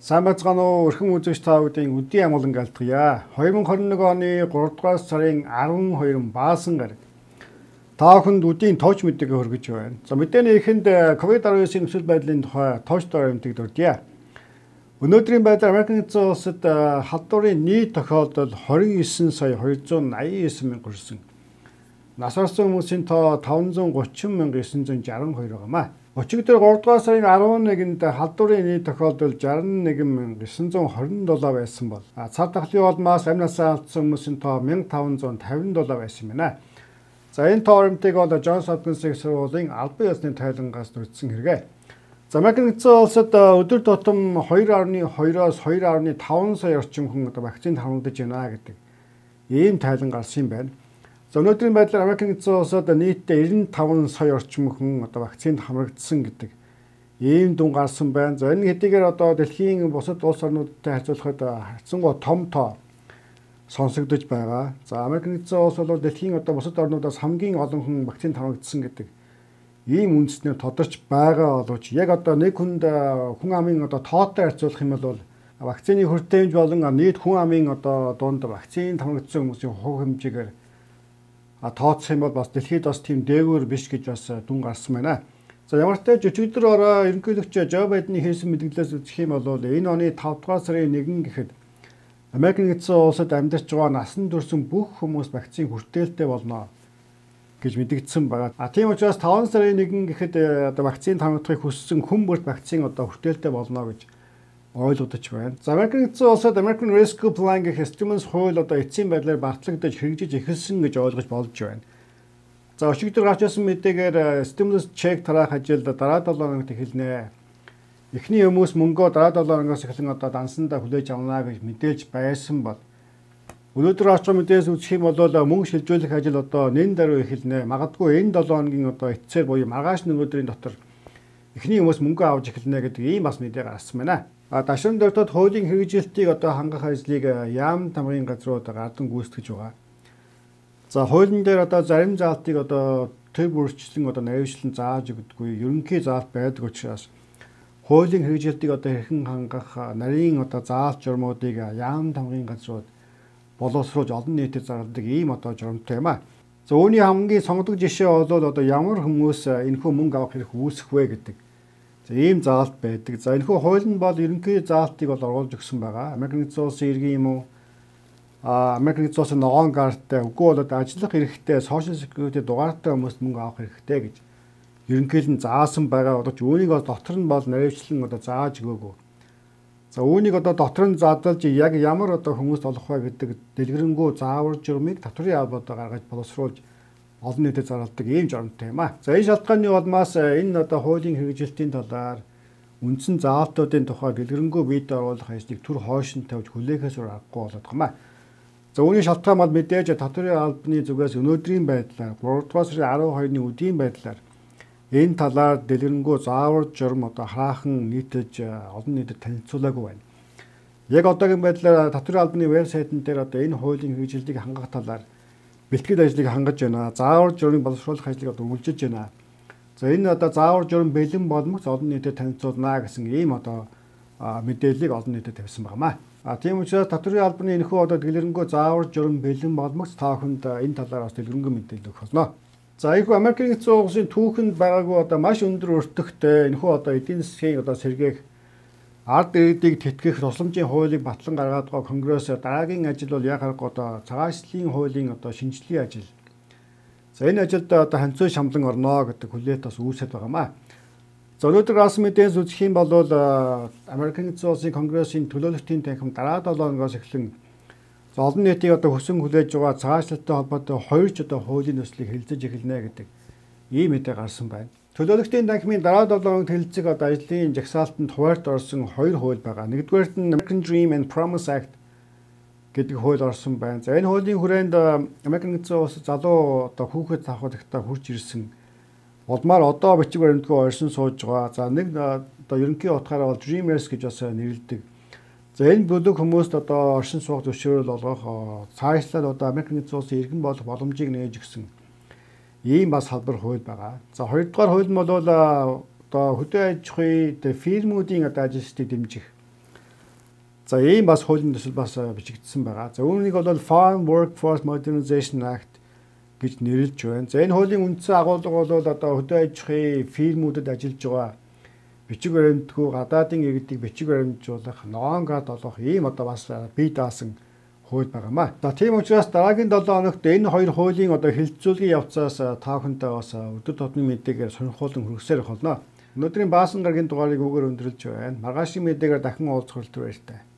Сайн байцгаана уу өрхөн үзэгч та бүдийн өдийн амгалан галдгая. 2021 оны 3 дугаар сарын 12-нд баасан гараг. Та бүхэнд өдийн тооч мэдээ хүргэж байна. За мэдээний эхэнд COVID-19-ийн нөхцөл байдлын тухай тоочтой баримтыг дурдъя. Өнөөдрийн байдлаар Америкийн эзэн улсад халдварын нийт тохиолдол 29 сая 289 мянга хүрсэн. Нас барсан хүмүүсийн тоо 530,962 байгаамаа. Өчигдөр 3 дугаар сарын 11-нд халдварын нийт тохиолдол 61,927 байсан бол цар тахлын улмаас амь насаа алдсан хүмүүсийн тоо 1557 байсан юм байна. За энэ тоормтыг бол Джонс Хопкинсийн сургуулийн албан ёсны тайлангаас дүрдсэн хэрэгэ. За Америкийн эзэн улсад өдөр тутам 2.2-оос 2.5 сая орчим хүн вакцины хамгаалж байна гэдэг ийм тайлан гарсан юм байна. За өнөөдрийн байдлаар Америкийн эзэн улсад нийтдээ 95 сая орчим хүн вакцинд хамрагдсан гэдэг ийм дүн гарсан байна. За энэ хэдийгээр дэлхийн бусад улс орнуудтай харьцуулахад харьцангуй том тоо сонсогдож байгаа. За Америкийн эзэн улс бол дэлхийн бусад орнуудаас хамгийн олон хүн вакцинд хамрагдсан гэдэг ийм үндэснээр тодорч байгаа боловч яг нэг хүнд хүн амын тоотой харьцуулах юм бол вакцины хүртээмж болон нийт хүн амын дунд вакцинд хамрагдсан хүмүүсийн хувь хэмжээгээр тооцох юм бол бас дэлхийд бас тийм дээгүүр биш гэж бас дүн гарсан байна. За ямар ч тач өчигдөр ерөнхийлөгч Жо Байдены хийсэн мэдээлэлээс үзэх юм бол энэ оны 5 дугаар сарын 1 гэхэд Америкийн эзэн улсад амьдарч байгаа насан турш бүх хүмүүс вакцины хүртээлтэй болно гэж мэдэгдсэн байгаа. Тийм учраас 5 сарын 1 гэхэд вакцинд хамрагдахыг хүссэн хүн бүрт вакцины хүртээлтэй болно гэж ойлгогдож байна. За Америкийн эзэн улсад American Rescue Plan гэх стимулс хууль эцсийн байдлаар бартлагдаж хэрэгжиж эхэлсэн гэж ойлгож болж байна. За өчигдөр гарч ирсэн мэдээгээр стимулс чек тараах ажил дараа 7 хоногт эхэлнэ. Эхний хүмүүс мөнгөө дараа 7 хоногоос эхлэн дансандаа хүлээж авна гэж мэдээлж байсан бол өнөөдөр орч мэдээс үзэх юм бол мөнгө шилжүүлэх ажил нэн даруй эхэлнэ. Магадгүй энэ 7 хоногийн эцсээр буюу маргааш өдрийн дотор эхний хүмүүс мөнгө авч эхэлнэ гэдэг ийм бас мэдээ гарсан байна. Дашрын дөртөд хуулийн хэрэгжилтийг хангах ажлыг яам тамгын газрууд гардан гүйцэтгэж байгаа. За хуулийн дээр зарим заалтыг төв бүрчлэн наривчлан зааж өгдөггүй ерөнхий заалт байдаг учраас хуулийн хэрэгжилтийг хэрхэн хангах нарийн заалт журмуудыг яам тамгын газрууд боловсруулж олон нийтэд зарладаг ийм журамтай юм а. За үүний хамгийн сонгодог жишээ бол ямар хүмүүс энэхүү мөнгө авах хэрэг үүсэх вэ гэдэг ийм заалт байдаг. За энэхүү хууль нь бол ерөнхий заалтыг оруулж өгсөн байгаа. Америкийн эзэн улсын иргэн юм уу? Америкийн эзэн улсын ногоон карттай үгүй бол ажиллах эрхтэй social security дугаартай хүмүүст мөнгө авах хэрэгтэй гэж ерөнхийд нь заасан байгаа боловч үүнийг дотор нь бол наривчлан зааж өгөөгүй. За үүнийг дотор нь задлж яг ямар хүмүүст олох вэ гэдэг дэлгэрэнгүй заавар журмыг татврын албад гаргаж боловсруулж олон нийтэд зарладаг ийм журамтай юм а. За энэ шалтгааны улмаас энэ хуулийн хэрэгжилтийн талаар үндсэн заалтуудын тухай дэлгэрэнгүй биед оруулах ажлыг түр хойшин тавьж хүлээхээс аргагүй болоод байгаа юм а. За үүний шалтгаан бол мэдээж татврын албаны зүгээс өнөөдрийн байдлаар 3 дугаар сарын 12-ны үдийн байдлаар энэ талаар дэлгэрэнгүй заавар журм хараахан нийтэж олон нийтэд танилцуулаагүй байна. Яг одоогийн байдлаар татврын албаны вебсайтн дээр энэ хуулийн хэрэгжилтийг хангах талаар бэлтгэл ажлыг хангаж байна. Заавар журмыг боловсруулах ажлыг үргэлжилж байна. За энэ заавар журм бэлэн болмогц олон нийтэд танилцуулна гэсэн ийм мэдээллийг олон нийтэд тавьсан байна. Тийм учраас татврын албаны энэхүү дэлгэрэнгүй заавар журм бэлэн болмогц та бүхэнд энэ талаар бас дэлгэрэнгүй мэдээлэл өгөх болно. За ийхүү Америкийн эзэн улсын түүхэнд байгаагүй маш өндөр өртөгтэй энэхүү эдийн засгийн сэргээх ард иргэдийг тэтгэх тусламжийн хуулийг батлан гаргаад байгаа Конгресс дараагийн ажил бол яг цагаачлалын хуулийн шинжилгээ ажил. За энэ ажилд ханцуу шамлан орно гэдэг хүлээт бас үүсэт байгаамаа. За өнөөдөр гарсан мэдээс үзэх юм бол Америкийн эзэн улсын Конгрессийн төлөөлөлтийн танхим дараа 7 хоногоос эхлэн олон нийтийн хүсэн хүлээж байгаа цагаачлалтай холбоотой 2 хуулийн төслийг хэлэлцэж эхэлнэ гэдэг ийм мэдээ гарсан байна. Төлөөлөгчдийн танхимын дараа 7 хоногт хэлэлцэх ажлын жагсаалтанд хуваарьт орсон 2 хууль байгаа. Нэгдүгээрт нь American Dream and Promise Act гэдэг хууль орсон байна. За энэ хуулийн хүрээнд Америкийн эзэн улс залуу хүүхэд авахдагтаа хурж ирсэн улмаар бичиг баримтгүй оршин сууж байгаа. За нэг ерөнхий утгаараа бол Dreamers гэж бас нэрлэдэг. За энэ бүлэг хүмүүст оршин суух зөвшөөрөл олгох цаашлаад Америкийн эзэн улсын иргэн болох боломжийг нээж өгсөн ийм бас салбар хууль байгаа. За хоёрдугаар хууль нь бол хөдөө аж ахуйн фирмүүдийн ажилчдыг дэмжих За ийм бас хуулийн төсөл бас бичигдсэн байгаа. За үүнийг бол Farm Workforce Modernization Act гэж нэрлэж байна. За энэ хуулийн үндсэн агуулга бол одоо хөдөө аж ахуйн фирмүүдэд ажиллаж байгаа бичиг баримтгүй гадаадын иргэдийг бичиг баримтжуулах, ногоон гад олгох ийм одоо бас бие даасан хууль байгаамаа. За тийм учраас дараагийн 7 хоногт энэ хоёр хуулийн одоо хэлэлцүүлгийн явцаас та бүхэнтэй бас өдөр тутмын мэдээгээр сонирхолтой хүргэсээр болно. Өнөөдрийн Баасан гарагийн дугаарыг үгээр өндөрлж байна. Маргаашийн мэдээгээр дахин уулзах хүртэл баяртай.